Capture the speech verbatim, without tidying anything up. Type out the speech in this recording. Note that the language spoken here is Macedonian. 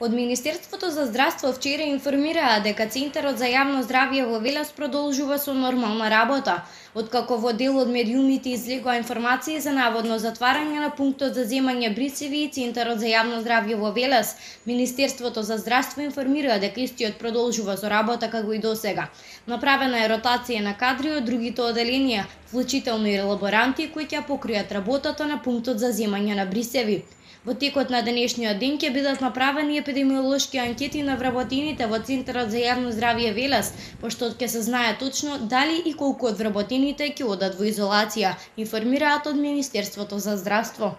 Од Министерството за здравство вчера информираа дека Центарот за јавно здравје во Велес продолжува со нормална работа. Откако во дел од медиумите излегоа информации за наводно затварање на пунктот за земање брисеви и Центарот за јавно здравје во Велес, Министерството за здравство информира дека истиот продолжува со работа како и досега. Направена е ротација на кадри од другите оделенија, вклучително и лаборанти кои ќе покријат работата на пунктот за земање на брисеви. Во текот на денешниот ден ќе бидат направени епидемиолошки анкети на вработените во Центарот за јавно здравје Велес, пошто ќе се знае точно дали и колку од вработените ќе одат во изолација, информираат од Министерството за здравство.